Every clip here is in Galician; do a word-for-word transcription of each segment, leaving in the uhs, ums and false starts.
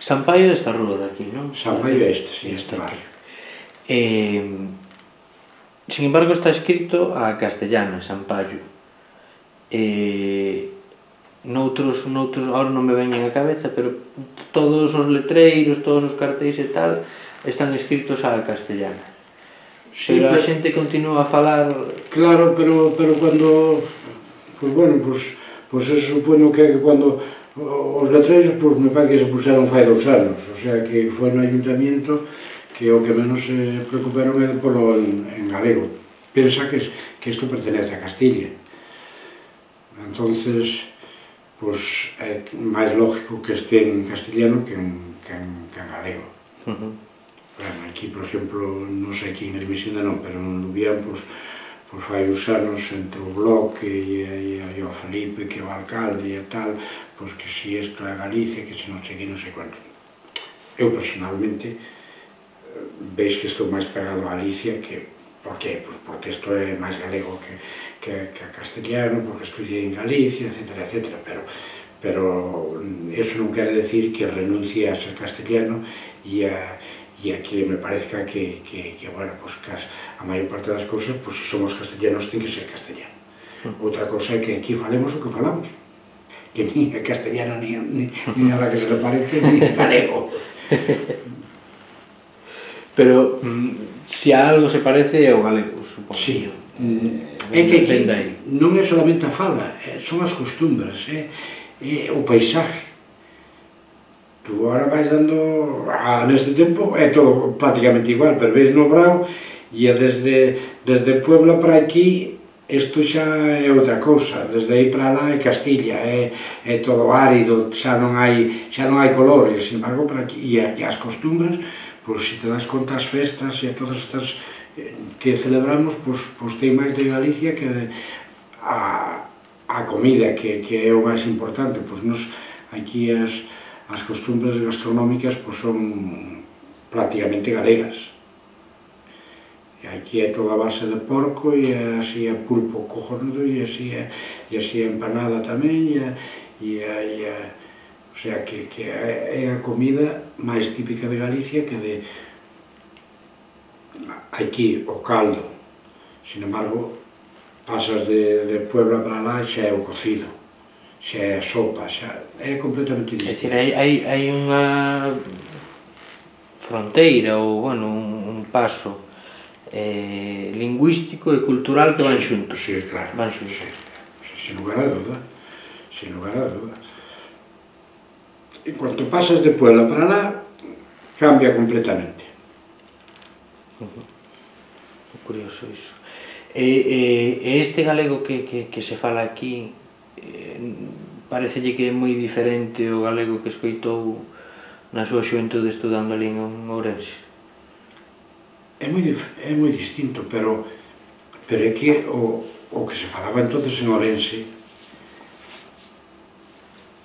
San Paio é esta rúa de aquí, non? San Paio é este, si, este barrio. Sin embargo, está escrito a castellana, San Paio. Noutros, noutros, ahora non me veñen a cabeza, pero todos os letreiros, todos os cartéis e tal, están escritos a castellana. Pero a xente continúa a falar... Claro, pero cando... Pois bueno, pois eso supoño que cando os letreiros, pois me parece que se puseron fai dous anos, o sea que foi no ayuntamiento que o que menos se preocuparon é polo en galego. Pensa que isto pertenece a Castilla. Entonces, pois é máis lógico que este en castellano que en galego. Aquí, por exemplo, non sei aquí en Hermesinde non, pero en Lubián, pois fai uns anos entre o Bloque e o Felipe, que é o alcalde e tal, pois que si isto é Galicia, que se non sei que, non sei quanto. Eu, personalmente, veis que estou máis pegado a Galicia que... Por qué? Porque isto é máis galego que castellano, porque estudiei en Galicia, etcétera, etcétera, pero eso non quere decir que renuncie a ser castellano e a que me parezca que, bueno, pois que a maior parte das cousas, pois se somos castellanos, ten que ser castellano. Outra cousa é que aquí falemos o que falamos, que ni é castellano, ni nada que se le parece, ni galego. Pero, se a algo se parece é o galego, supongo. Sí, é que aquí non é solamente a fala, son as costumbres, é o paisaje. Tu agora vais dando, neste tempo é todo prácticamente igual, pero veis no Brao e desde Puebla para aquí isto xa é outra cousa, desde aí para lá é Castilla, é todo árido, xa non hai colores, sin embargo, para aquí, e as costumbres, pois se te das conta as festas e a todas estas que celebramos, pois ten máis de Galicia que a comida, que é o máis importante, pois nos aquí as as costumbres gastronómicas son prácticamente galegas. Aquí é toda a base de porco e así é pulpo cojonudo e así é empanada tamén, o sea que é a comida máis típica de Galicia que de aquí o caldo. Sin embargo, pasas de Puebla para lá e xa é o cocido, xa é a sopa, xa é completamente distinto. É dicir, hai unha fronteira ou, bueno, un paso lingüístico e cultural que van xuntos. Sí, claro, sin lugar a duda, sin lugar a duda. En cuanto pasas de Puebla para lá, cambia completamente. Curioso iso. E este galego que se fala aquí, parecelle que é moi diferente o galego que escoitou na súa xuventude estudando ali en Ourense? É moi distinto, pero é que o que se falaba entonces en Ourense,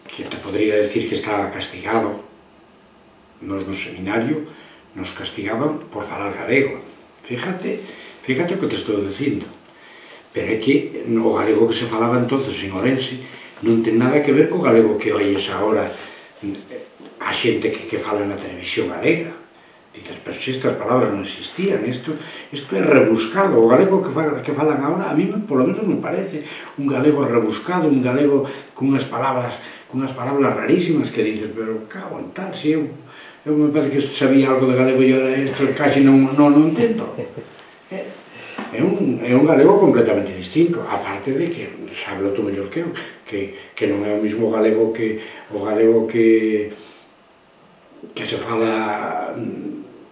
que te podría decir que estaba castigado, nos no seminario nos castigaban por falar galego. Fíjate, fíjate o que te estou dicindo. Pero é que o galego que se falaba entonces en Ourense non ten nada que ver co galego que oíes agora a xente que fala na televisión galega. Dices, pero se estas palabras non existían, isto é rebuscado. O galego que falan agora, a mí polo menos me parece un galego rebuscado, un galego cunhas palabras cunhas palabras rarísimas que dices, pero cago en tal, se eu eu me parece que sabía algo de galego e agora isto casi non entendo. É un galego completamente distinto, aparte de que, sábelo tú mellor que eu, que non é o mismo galego que o galego que que se fala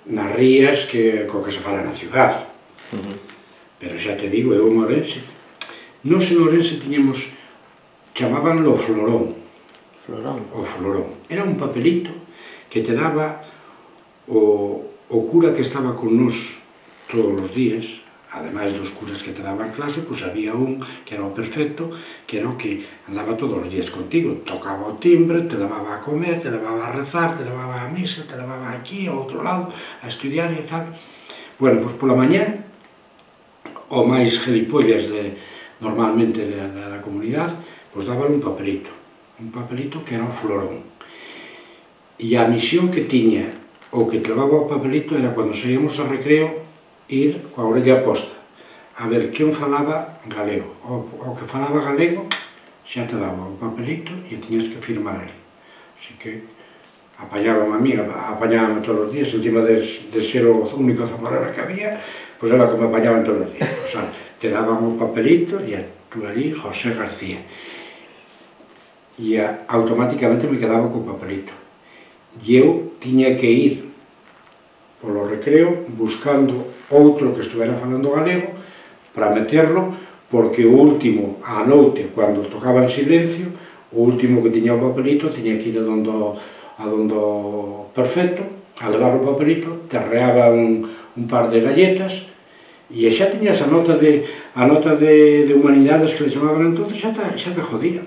nas rías que co que se fala na ciudad. Pero xa te digo, eu en Ourense, nos en Ourense tiñamos, chamabanlo o florón. O florón. Era un papelito que te daba o cura que estaba con nos todos os días. Ademais dos curas que te daban clase, pois había un que era o perfecto, que era o que andaba todos os días contigo, tocaba o timbre, te levaba a comer, te levaba a rezar, te levaba a misa, te levaba aquí, ao outro lado, a estudiar e tal. Bueno, pois pola mañá, o máis gelipollas normalmente da comunidade, pois dábale un papelito, un papelito que era o florón. E a misión que tiña o que te levaba o papelito era cando saíamos a recreo ir coa orella posta a ver quen falaba galego. O que falaba galego xa te daba o papelito e tiñas que firmar ali. Así que apañaban a mí, apañaban todos os días, encima de ser o único zamorano que había, pois era que me apañaban todos os días. O sea, te daban o papelito e tú ali, José García. E automáticamente me quedaba co papelito. E eu tiña que ir polo recreo buscando outro que estuvera falando galego para meterlo, porque o último, a noite, cando tocaba en silencio, o último que tiña o papelito tiña que ir a dondo, a dondo perfecto, a levar o papelito, terreaba un, un par de galletas e xa tiñas a nota de, a nota de, de humanidades que le chamaban entón, xa te, xa te jodían.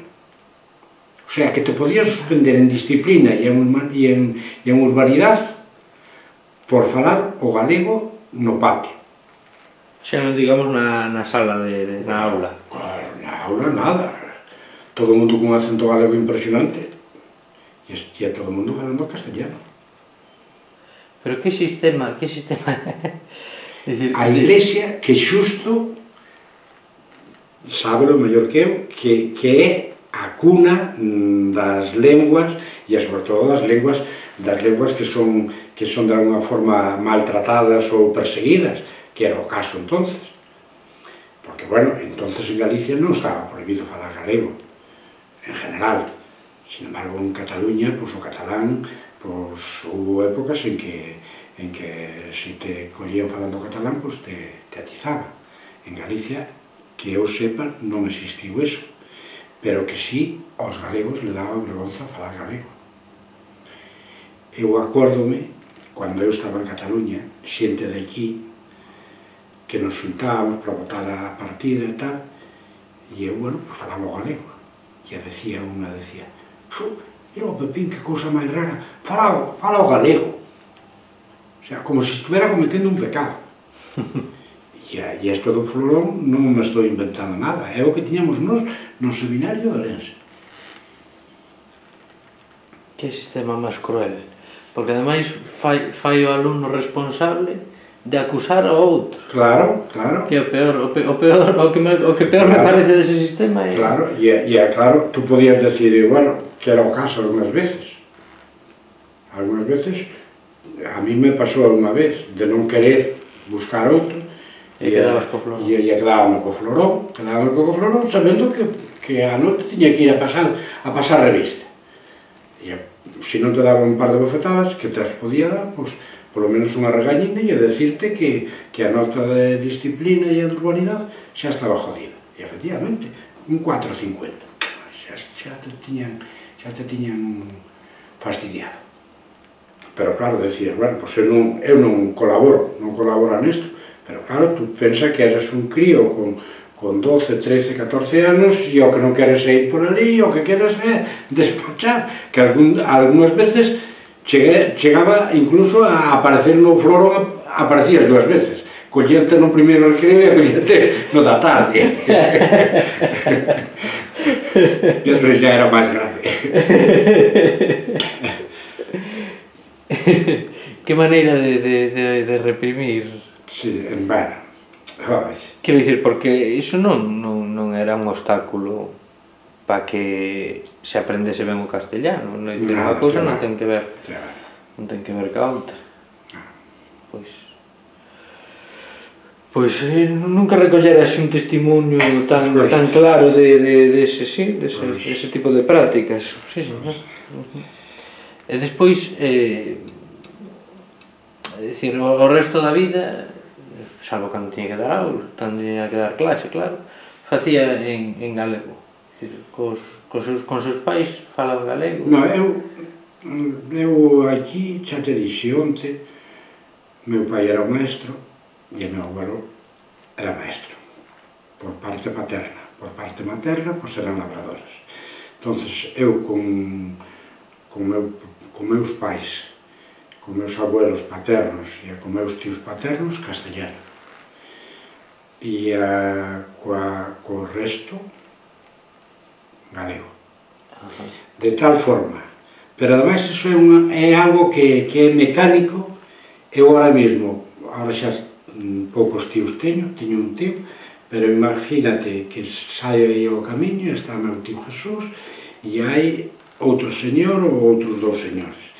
O sea, que te podías suspender en disciplina e en, e en, e en urbanidade por falar o galego no patio. Xa non digamos na, na sala, de, de, na aula. Claro, na aula nada. Todo o mundo con un acento galego impresionante. E é todo o mundo falando castellano. Pero que sistema, que sistema... Decir, a Iglesia, que xusto, sábelo mellor que eu, que, que é a cuna das lenguas, e sobre todo das lenguas, das lenguas que son, que son de alguna forma maltratadas ou perseguidas, que era o caso entonces. Porque, bueno, entonces en Galicia non estaba prohibido falar galego, en general. Sin embargo, en Cataluña, pois o catalán, pois houve épocas en que, en que se te collían falando catalán, pois te, te atizaba. En Galicia, que eu sepa, non existiu eso, pero que sí, aos galegos le daba vergonza falar galego. Eu acórdome, cando eu estaba en Cataluña, xente de aquí, que nos xuntábamos para votar a partida e tal, e eu, bueno, pues falaba o galego. E decía unha, decía, mira o Pepín, que cousa máis rara, fala, fala o galego. O sea, como se estuviera cometendo un pecado. E, e isto do florón non me estou inventando nada, é o que tiñamos nos no seminario de Orense. Que sistema máis cruel, porque ademais fai, fai o alumno responsable de acusar ao outro. Claro, claro. Que é o peor, o, pe, o, peor, o, que, me, o que peor claro. me parece dese sistema é... Claro, e, e claro, tú podías decir, bueno, que era o caso algunhas veces. Algunhas veces, a mí me pasou algunha vez de non querer buscar outro, e quedabas co florón. E, e quedábame co florón, quedábame co florón, sabendo que, que a noite tiña que ir a pasar, a pasar revista. E se non te daba un par de bofetadas, que te as podía dar, pois, polo menos unha regañina e a decirte que, que a nota de disciplina e a de urbanidade xa estaba jodida. E efectivamente, un cuatro cincuenta. Xa, xa, te tiñan, xa te tiñan fastidiado. Pero claro, decir, bueno, pois eu non, eu non colaboro, non colaboro nesto, pero claro, tú pensa que eres un crío con, con doce, trece, catorce anos e o que non queres é ir por ali, o que queres é despachar, que algún, algunhas veces chegué, chegaba incluso a aparecer no florón, aparecías dúas veces, collerte no primeiro recreo e collerte no da tarde. E eso xa era máis grave. Que maneira de, de, de, de reprimir. Sí, en vano. Quero dicir, porque iso non, non, non era un obstáculo para que se aprendese ben o castellano. Non, unha cousa non ten que ver, non ten que ver ca outra. Pois, pois eh, nunca recollera así un testimonio tan, tan claro de, de, de ese, sí, de ese, de ese tipo de prácticas. Sí, sí, ¿no? E despois, eh, é dicir, o, o resto da vida, salvo cando tiña que dar aula, cando tiña que dar clase, claro, facía en, en galego. Cos, cos seus, con seus pais falaban galego. No, eu, eu aquí xa te dixi onte, meu pai era maestro e meu abuelo era maestro, por parte paterna. Por parte materna, pois eran labradoras. Entonces, eu con, con, meu, con meus pais, con meus abuelos paternos e con meus tíos paternos, castellano. E a, coa, co resto, galego. De tal forma, Pero ademais iso é, unha, é algo que, que é mecánico. Eu ahora mesmo, ahora xa poucos tíos teño, teño un tío, pero imagínate que saio aí ao camiño e está meu tío Jesús e hai outro señor ou outros dous señores.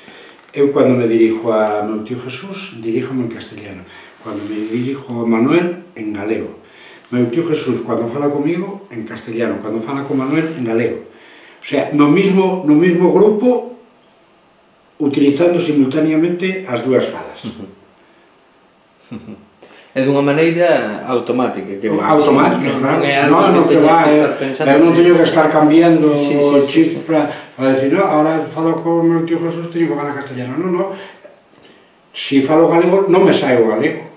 Eu, cando me dirijo a meu tío Jesús, diríjome en castellano. Cando me dirijo a Manuel, en galego. Meu tío Jesús, cando fala comigo, en castellano. Cando fala con Manuel, en galego. O sea, no mismo, no mismo grupo, utilizando simultaneamente as dúas falas. É dunha maneira automática. Que automática, sí, claro. Non é algo no, que, no, que va, eu non teño que estar cambiando sí, sí, o chip sí, sí. Para, para decir, no, ahora falo con meu tío Jesús, teño que falar castellano. Non, non. Si falo galego, non me saio galego,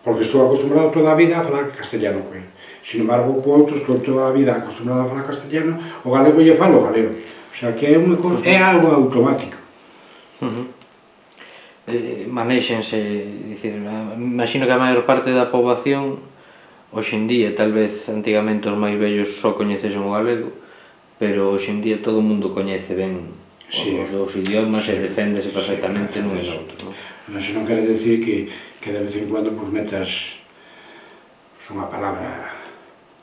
porque estou acostumbrado toda a vida a falar castellano con ele. Sin embargo, con outros, estou toda a vida acostumbrado a falar castellano, o galego lle falo galego. O sea, que é, un, é algo automático. Uh -huh. Eh, manéxense, dicir, imagino que a maior parte da poboación hoxe en día, tal vez antigamente os máis vellos só coñecesen o galego, pero hoxe en día todo o mundo coñece ben sí, os dous idiomas sí, e deféndese perfectamente sí, nun e noutro. Non se non quere decir que, que de vez en cuando pues, metas unha palabra.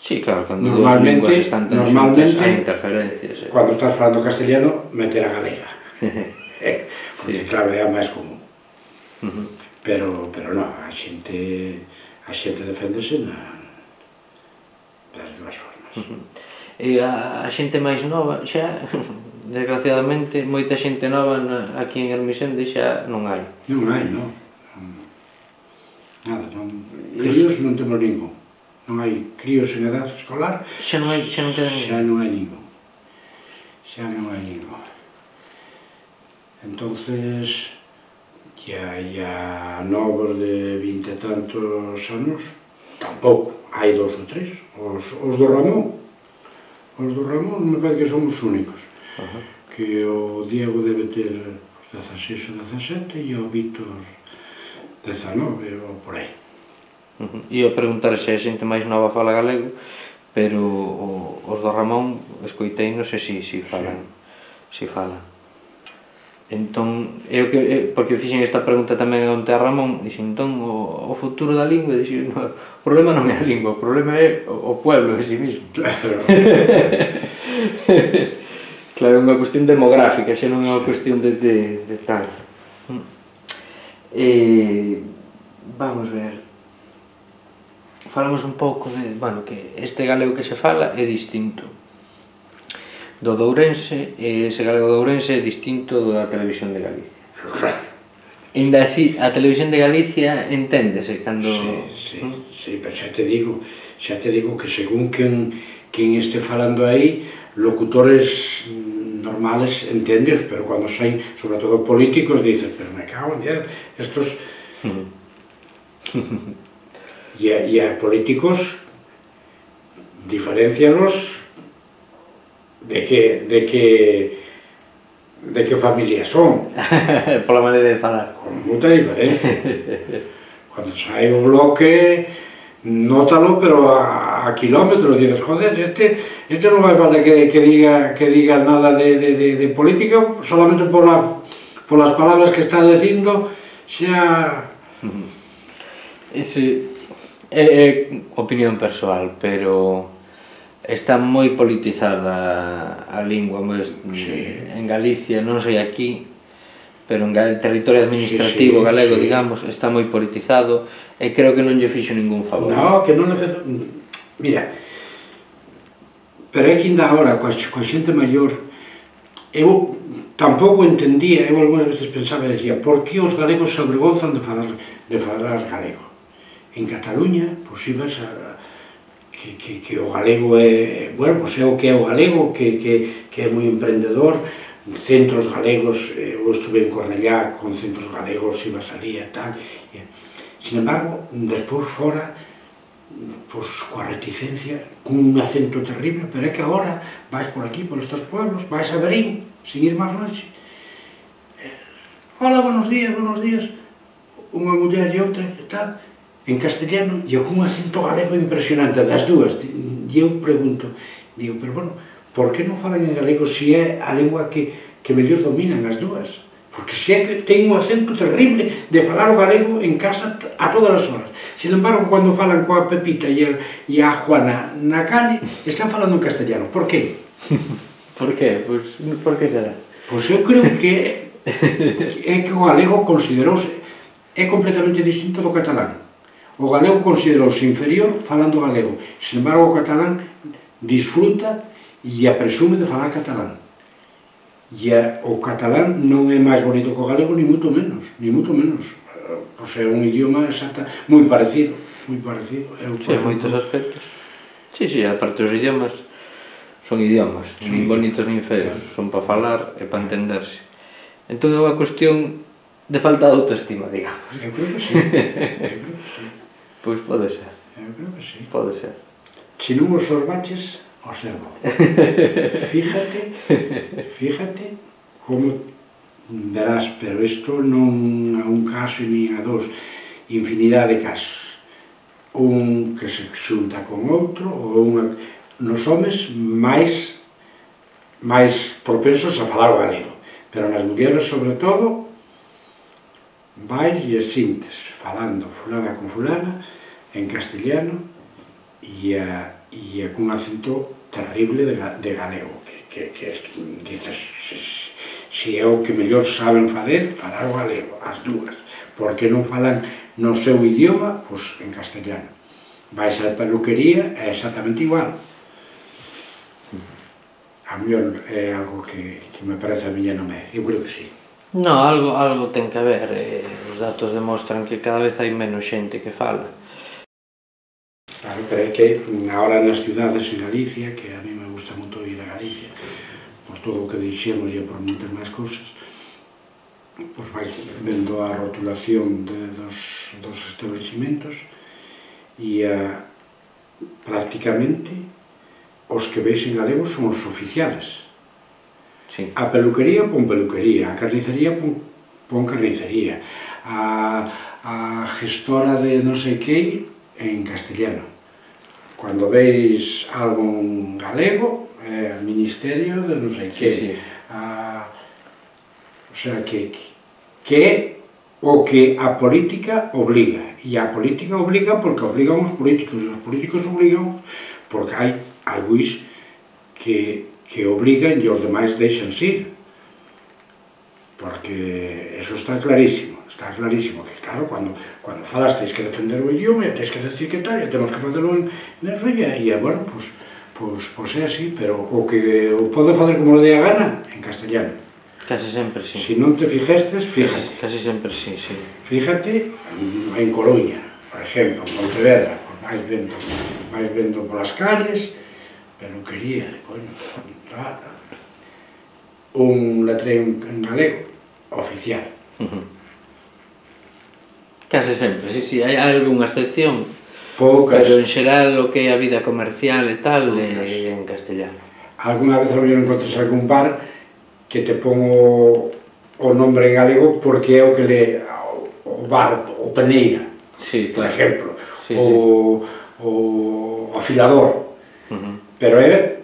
Sí, claro, cando dúas linguas están tan xuntas hai interferencias. Eh. Cando estás falando castellano, meter a galega. eh, porque sí, claro, é a máis común. Uh -huh. pero, pero non, a xente a xente deféndese na, das dúas formas. Uh -huh. E a, a xente máis nova xa, desgraciadamente, moita xente nova na, aquí en Ermixende xa non hai. Non hai, non. Nada, non. Críos non temos ningún. Non hai críos en edad escolar. Xa non hai, xa non queda ningún. Xa non hai ningún. Xa non hai ningún. Entonces, ya, ya novos de vinte e tantos anos, tampouco, hai dos ou tres, os, os do Ramón, os do Ramón me parece que son os únicos, uh -huh. que o Diego debe ter os dezaseis ou dezasete e o Víctor dezanove ou por aí. Uh -huh. E eu preguntar se a xente máis nova fala galego, pero o, os do Ramón escoitei, non sei se si, si falan, sí. si falan. Entón, eu que, porque fixen esta pregunta tamén onte a Ramón, dixen, entón, o, o futuro da lingua, dixen, no, o problema non é a lingua, o problema é o, o pueblo en si mismo. Claro. Claro, é unha cuestión demográfica, xa non é unha cuestión de, de, de tal. E, vamos ver, falamos un pouco de, bueno, que este galego que se fala é distinto do de Ourense, e ese galego de Ourense é distinto do da Televisión de Galicia. Ainda así, a Televisión de Galicia enténdese cando... Sí, sí, ¿no? Sí, pero xa te digo, xa te digo que según quen, quen este falando aí, locutores normales entendios, pero cando saen, sobre todo políticos, dices, pero me cago en Dios, estos... e, a, e a políticos diferencianos de que, de que, de que familia son. Pola maneira de falar. Con moita diferencia. Cando sai o bloque, nótalo, pero a, a kilómetros, dices, joder, este, este non vai falta que, que, diga, que diga nada de, de, de, de política, solamente por, la, por las palabras que está dicindo, xa... Ese é, é opinión persoal, pero... Está moi politizada a lingua, sí. En Galicia, non sei aquí, pero en el territorio administrativo sí, sí, galego, sí. Digamos, está moi politizado e creo que non lle fixo ningún favor. No, que non necesito... Mira, pero é que ainda agora, coa, coa xente maior, eu tampouco entendía, eu algunhas veces pensaba e decía, por que os galegos se avergonzan de falar, de falar galego? En Cataluña, pois ibas a... Que, que, que o galego é, bueno, pois é o que é o galego, que, que, que é moi emprendedor, centros galegos, eu estuve en Cornellá con centros galegos, iba a salir e tal, e, sin embargo, despois fora, pois, coa reticencia, cun acento terrible, pero é que agora vais por aquí, por estes pueblos, vais a Berín, sin ir máis longe, hola, buenos días, buenos días, unha muller e outra e tal, en castellano, e con un acento galego impresionante, das dúas, e eu pregunto, digo, pero bueno, por que non falan en galego se é a lingua que, que mellor dominan as dúas. Porque se é que ten un acento terrible de falar o galego en casa a todas as horas. Sin embargo, cando falan coa Pepita e a, e a Juana na calle, están falando en castellano. Por qué? Por qué? Pois, por que será? Pois eu creo que é que o galego considerouse é completamente distinto do catalán. O galego considerouse inferior falando galego. Sin embargo, o catalán disfruta e a presume de falar catalán. E a, o catalán non é máis bonito que o galego, ni moito menos, ni moito menos. O sea, é un idioma exacta, moi parecido, moi parecido. Eu, sí, en moitos aspectos. Sí, sí, aparte os idiomas son idiomas, sí, nin bonitos nin feos, son para falar e para entenderse. Entón é unha cuestión de falta de autoestima, digamos. Eu creo que sí, eu creo que sí. Pois pode ser. Eu creo que sí. Pode ser. Se non os sorbaches, observo. Fíjate, fíjate como verás, pero isto non a un caso ni a dos, infinidade de casos. Un que se xunta con outro, ou unha... Nos homes máis máis propensos a falar o galego, pero nas mulleres, sobre todo, vais e sintes falando fulana con fulana en castellano e a e con un acento terrible de, de galego, que, que, que, que dices, se, se é o que mellor saben fazer, falar o galego, as dúas, porque non falan no seu idioma, pois en castellano. Vais á peluquería, é exactamente igual. A mellor é algo que, que me parece a miña non é, eu creo que sí. No, algo, algo ten que haber, eh, os datos demostran que cada vez hai menos xente que fala. Claro, pero é que agora nas ciudades en Galicia, que a mí me gusta moito ir a Galicia, por todo o que dixemos e por moitas máis cousas, pois vais vendo a rotulación de, dos, dos establecimentos e a, prácticamente os que veis en galego son os oficiales. Sí. A peluquería pon peluquería, a carnicería pon, pon carnicería, a, a gestora de non sei que en castellano. Cando veis algo en galego, é eh, ministerio de non sei que. Sí, sí. A, o sea, que, que é o que a política obliga. E a política obliga porque obligan os políticos, e os políticos obligan porque hai algúis que, que obligan e os demais deixan ir. Porque eso está clarísimo. Está clarísimo que, claro, cando, cando falas tens que defender o idioma e tens que decir que tal, e temos que facelo en eso, e, e bueno, pois, pois, pois é así, pero o que o pode fazer como le dé a gana, en castellano. Casi sempre, sí. Se non te fijastes, fíjate. Casi, casi sempre, sí, sí. Fíjate en Coruña, por exemplo, en Pontevedra, pues vais vendo, vais vendo polas calles, peluquería, bueno, un letreiro en galego, oficial. Uh-huh. Case sempre, sí, sí, hai algunha excepción, Poucas. Pero en xeral o que é a vida comercial e tal é en castellano. Alguna vez a mellor encontras algún bar que te pon o, o nombre en galego porque é o que le o bar, o Peneira, sí, por claro. exemplo, sí, o, sí. o afilador, Uh-huh. pero é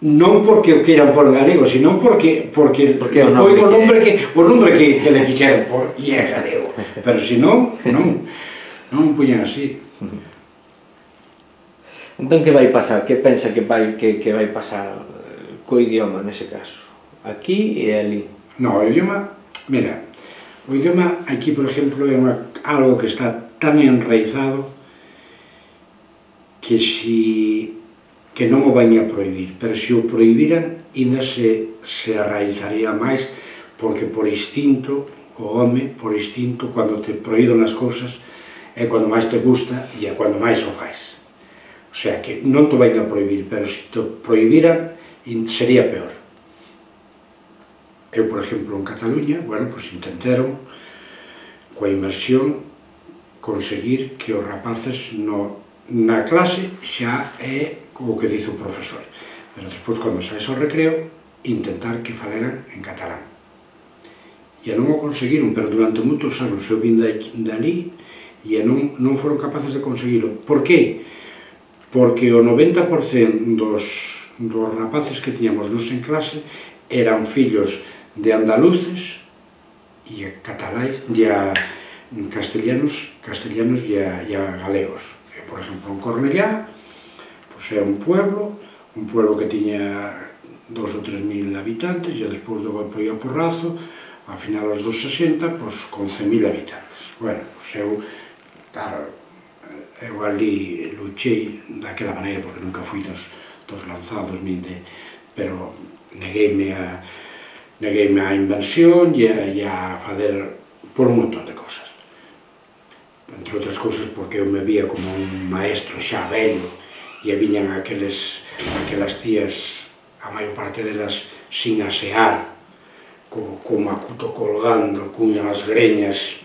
non porque o queiran por galego, sino porque porque, porque o nombre, nombre, o nombre que, que o nombre que, que le quixeran por e é galego. Pero se non, non, non puñan así. Entón, que vai pasar? Que pensa que vai, que, que vai pasar co idioma nese caso? Aquí e ali? No, o idioma, mira, o idioma aquí, por exemplo, é unha, algo que está tan enraizado que si que non o vaña a prohibir, pero se o prohibiran, ainda se, se arraizaría máis, porque por instinto, o home, por instinto, cando te prohíben as cousas, é cando máis te gusta e é cando máis o fais. O sea, que non te vayan a prohibir, pero se te prohibiran, sería peor. Eu, por exemplo, en Cataluña, bueno, pois intentaron, coa inmersión, conseguir que os rapaces no, na clase xa é o que dice o profesor, pero despois, cando saes ao recreo, intentar que faleran en catalán. E non o conseguiron, pero durante moitos anos eu vim dali e non, non foron capaces de conseguilo. Por que? Porque o noventa por cento dos, dos rapaces que tiñamos nos en clase eran fillos de andaluces e a cataláis, e a castellanos, castellanos e a, e a galegos. E, por exemplo, en Cornellá, pois é un pueblo, un pueblo que tiña dos ou tres mil habitantes, e despois do golpe e o porrazo, a finales dos sesenta, pois, con cen mil habitantes. Bueno, pois eu, claro, eu ali luchei daquela maneira, porque nunca fui dos, dos lanzados, nin de, pero negueime a, negueime a inversión e a, e a fazer por un montón de cosas. Entre outras cousas porque eu me vía como un maestro xa velho e viñan aqueles, aquelas tías, a maior parte delas sin asear, co, co macuto colgando, cunhas greñas,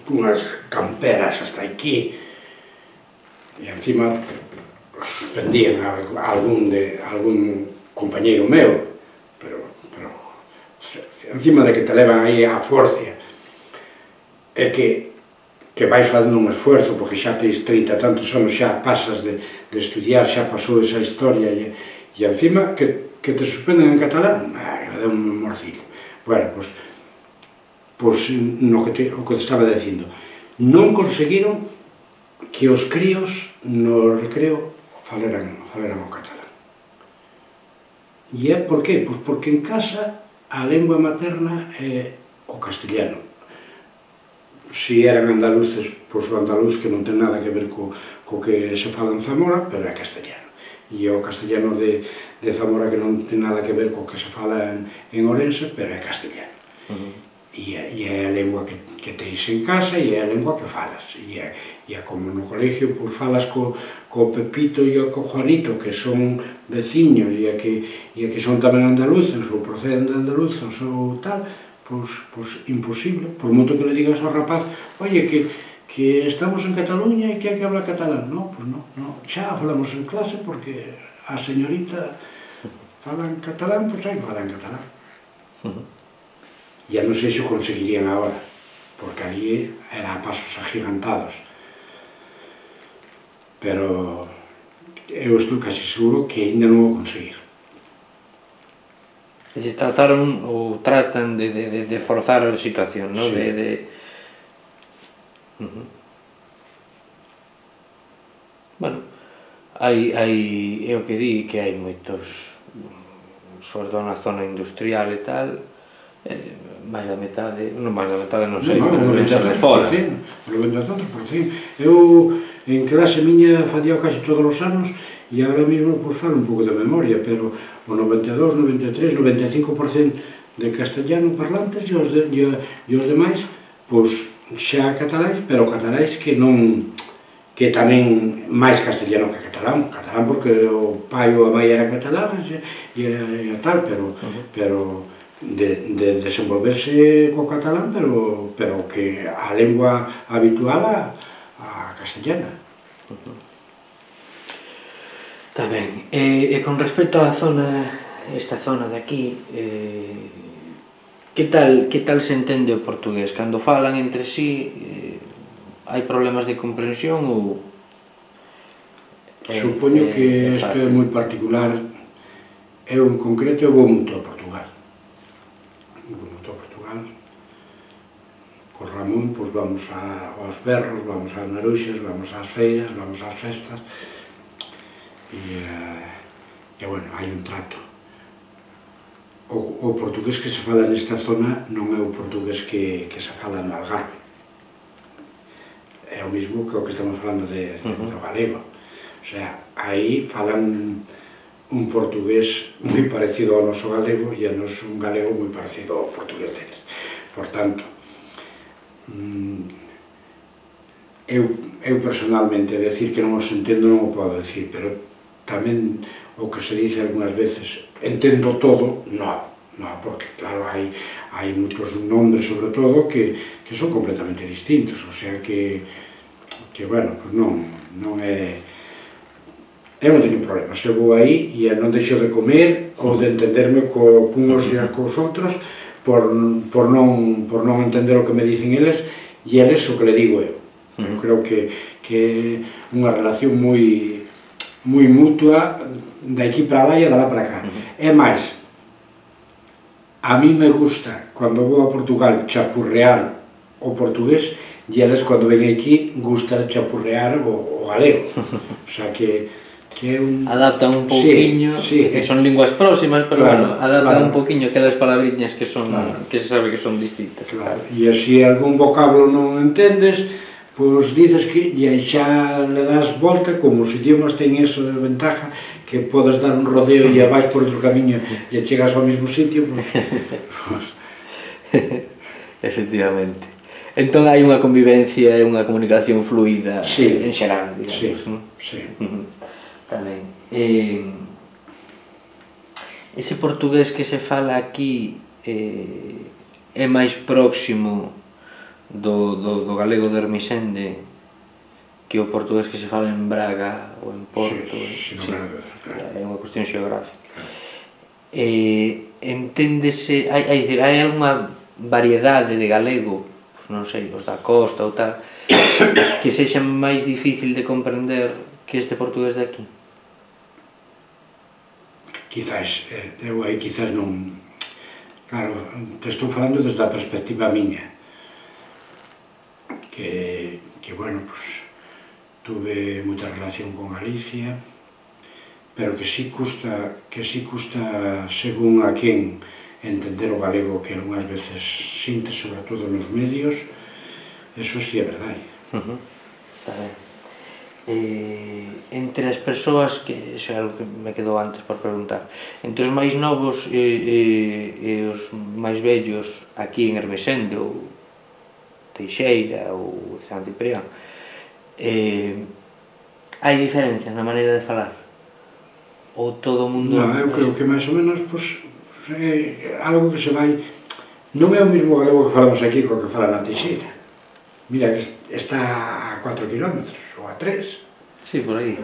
cunhas camperas hasta aquí, e encima suspendían a, a algún, de, algún compañeiro meu, pero, pero encima de que te levan aí a forcia, é que, que vais facendo un esfuerzo, porque xa tens trinta e tantos anos, xa pasas de, de estudiar, xa pasou esa historia, e, e encima que, que te suspenden en catalán, ah, deu un morcillo. Bueno, pois, pois no que te, o que te estaba dicindo, non conseguiron que os críos no recreo faleran, faleran o catalán. E é por qué? Pois porque en casa a lengua materna é o castellano. Si eran andaluces, pois o andaluz que non ten nada que ver co, co que se fala en Zamora, pero é castellano. E o castellano de, de Zamora que non ten nada que ver co que se fala en, en Ourense, pero é castellano. Uh-huh. E, e é a lengua que, que tens en casa e é a lengua que falas. E é, e é como no colegio, pois falas co, co Pepito e co Juanito, que son veciños e que, e que son tamén andaluces, ou proceden de andaluzos ou tal, pois, pois imposible, por moito que le digas ao rapaz, oye, que, que estamos en Cataluña e que hai que hablar catalán. No, pois non, no. Xa falamos en clase porque a señorita fala en catalán, pois hai que falar en catalán. Ya non sei se o conseguirían agora, porque ali era a pasos agigantados. Pero eu estou casi seguro que ainda non o conseguir. E se trataron ou tratan de, de, de forzar a situación, non? Sí. De, de... Uh-huh. Bueno, hai, hai, é o que di, que hai moitos, sobre todo na zona industrial e tal, eh, máis da metade, non máis da metade, non sei, no, non ven de fora. O noventa tantos por cento. Eu, en clase miña, facía casi todos os anos, e agora mesmo, pois, falo un pouco de memoria, pero o noventa e dos, noventa e tres, noventa e cinco por cento de castellano parlantes e os, de, e, e os demais, pois, xa cataláis, pero cataláis que non, que tamén máis castellano que catalán, catalán porque o pai ou a mãe era catalán e, e, e tal, pero, uh-huh. pero de, de desenvolverse co catalán, pero, pero que a lengua habitual a, a castellana. Uh-huh. Está ben. E, e con respecto á zona, esta zona de aquí, eh, que tal, que tal se entende o portugués? Cando falan entre sí, eh, hai problemas de comprensión ou... Supoño que isto é moi particular. Eu en concreto eu vou moito a Portugal. Vou moito a Portugal. Co Ramón, pois vamos a, aos berros, vamos ás maruxas, vamos ás feiras, vamos ás festas. E, e bueno, hai un trato. O, o portugués que se fala nesta zona non é o portugués que, que se fala no Algarve. É o mismo que o que estamos falando de, de, uh-huh. do galego. O sea, aí falan un portugués moi parecido ao noso galego e a noso un galego moi parecido ao portugués deles. Por tanto, eu, eu personalmente decir que non os entendo non o podo decir, pero tamén o que se dice algunhas veces, entendo todo, non, non, porque claro, hai, hai moitos nombres sobre todo que, que son completamente distintos, o sea que, que bueno, pues non, non é, eu non teño problema, se vou aí e non deixo de comer ou de entenderme co, cunhos e cos outros por, por, non, por non entender o que me dicen eles e eles o que le digo eu. Eu creo que, que é unha relación moi moi mutua de aquí para lá e de lá para cá. Uh-huh. É máis, a mí me gusta, cando vou a Portugal, chapurrear o portugués, e eles, cando ven aquí, gusta chapurrear o, o galego. O sea que, que é un... Adaptan un pouquiño, sí, sí, que son linguas próximas, pero claro, bueno, adaptan claro. un pouquiño aquelas palabriñas que son, claro. que se sabe que son distintas. Claro. E así algún vocablo non entendes, pois dices que, e aí xa le das volta, como os idiomas ten eso de ventaja, que podes dar un rodeo e vais por outro camiño e chegas ao mesmo sitio, pois... pues... Efectivamente. Entón hai unha convivencia e unha comunicación fluida sí. en xeral, digamos, sí. non? Sí. Tamén. Eh, ese portugués que se fala aquí eh, é máis próximo do, do, do galego de Ermixende que o portugués que se fala en Braga ou en Porto. Sí, sí, sí, claro. É unha cuestión xeográfica. Eh, enténdese, hai, hai, hai algunha variedade de galego, non sei, os da costa ou tal, que sexa máis difícil de comprender que este portugués de aquí? Quizás, eu aí quizás non... Claro, te estou falando desde a perspectiva miña, que, que bueno, pues, tuve moita relación con Galicia, pero que sí custa, que sí custa, según a quen, entender o galego que algunhas veces sinte, sobre todo nos medios, eso sí é verdade. Uh -huh. Está ben. Eh, entre as persoas, que iso é algo que me quedou antes por preguntar, entre os máis novos e, e, e os máis vellos aquí en Ermixende ou Teixeira ou San Ciprián, eh, hai diferencias na maneira de falar? Ou todo o mundo... Non, eu creo que máis ou menos, pois, é algo que se vai... Non é o mesmo galego que falamos aquí co que fala na Teixeira. Mira, que está a cuatro kilómetros, ou a tres. Sí, por aí.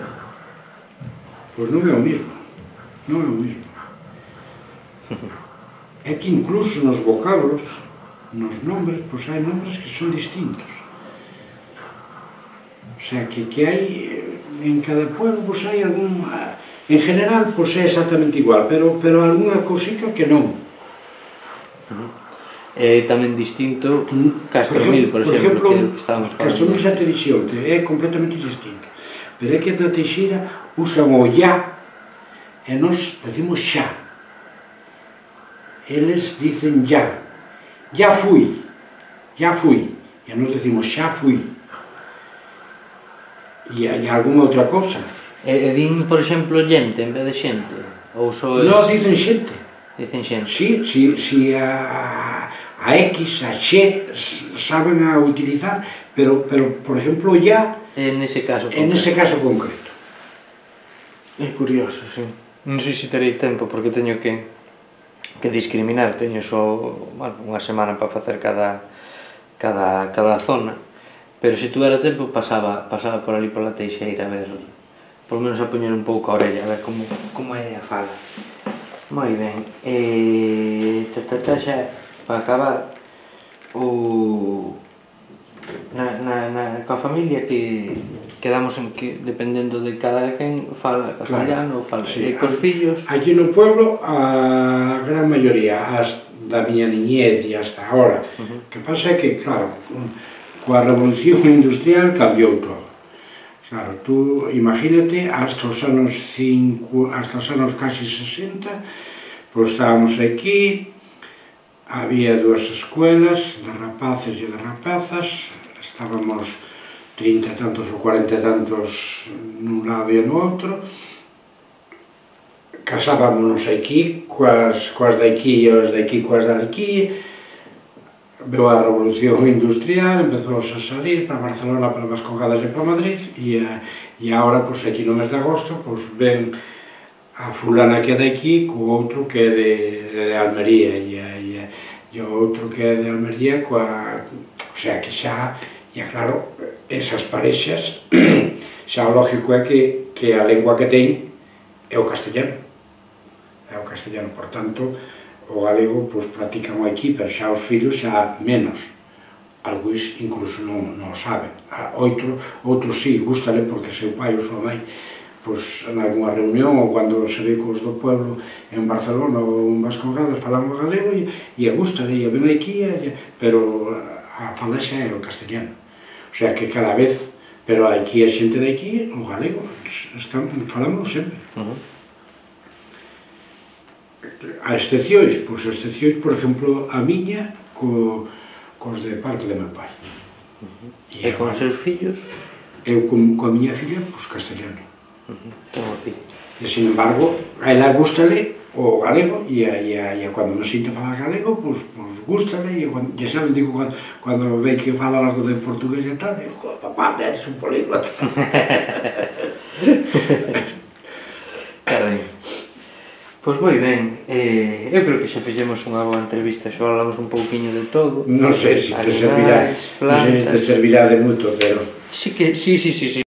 Pois non é o mesmo, non é o mesmo. É que incluso nos vocablos, nos nombres, pois hai nombres que son distintos. O sea, que, que hai, en cada pueblo, pois hai algún... En general, pois é exactamente igual, pero, pero algunha cousica que non. É tamén distinto Castromil, por exemplo, que estábamos falando. Castromil xa te dixo, é completamente distinto. Pero é que na Teixeira usan o ya e nos decimos xa. Eles dicen ya. Ya fui, ya fui. E nos decimos xa fui. E hai algunha outra cosa. E din, por exemplo, gente en vez de xente? Ou só es... Non, dicen xente. Dicen xente. Si, si, si a... a X, a X, saben a utilizar, pero, pero por exemplo, ya... En ese caso concreto. En ese caso concreto. É curioso, sí. Non sei se terei tempo, porque teño que, que discriminar, teño só, bueno, unha semana para facer cada, cada, cada zona, pero se tuvera tempo pasaba, pasaba por ali pola Teixeira a ver, por lo menos a poñer un pouco a orella, a ver como, como é a fala. Moi ben, e... ta, ta, ta, xa... Para acabar, o... na, na, na, coa familia que quedamos en que, dependendo de cada quen, fala castellano, claro, fala, sí. E cos fillos... Aquí no pueblo, a gran maioría, as da miña niñez e hasta agora, uh -huh. que pasa é que, claro, coa revolución industrial cambiou todo. Claro, tú imagínate, hasta os anos cinco, hasta os anos casi sesenta, pois estábamos aquí, había dúas escuelas de rapaces e de rapazas, estábamos trinta e tantos ou cuarenta e tantos nun lado e no outro, casábamos aquí coas, coas de aquí e os de aquí coas de aquí, veu a revolución industrial, empezou a salir para Barcelona, para Vascongadas e para Madrid, e, e agora, pois, aquí no mes de agosto, pois, ven a fulana que é de aquí co outro que é de, de Almería, e, e, e o outro que é de Almería coa... O sea, que xa, e claro, esas parexas, xa o lógico é que, que a lengua que ten é o castellano. É o castellano, por tanto, o galego, pois, practican aquí, pero xa os fillos xa menos. Algúns incluso non, non saben. Outro, outros sí, gústale porque seu pai ou súa mãe pois, en algunha reunión ou cando se ve cos do pueblo en Barcelona ou en Vascongadas falamos galego e, e a gusta, e ven aquí, e, pero a fala xa é o castellano. O sea que cada vez, pero aquí a xente de aquí, o galego, están, falamos sempre. Uh -huh. A excepcións, pois a excepcións, por exemplo, a miña co, cos de parte de meu pai. Uh -huh. E, e con os seus fillos? Eu con, coa miña filla, pois castellano. Uh -huh. Ten un fillo. E, sin embargo, a ela gústale o galego, e a, e a, e a cando non sinto falar galego, pois, pois gústale, e cando, ya saben, digo, cando, cando ve que fala algo de portugués e tal, digo, papá, eres un políglota. Carai. Pois moi ben, eh, eu creo que xa fixemos unha boa entrevista, xa falamos un pouquiño de todo. Non sei se te servirá, non sei se te servirá de moito, pero... Sí que, sí, sí, sí, sí.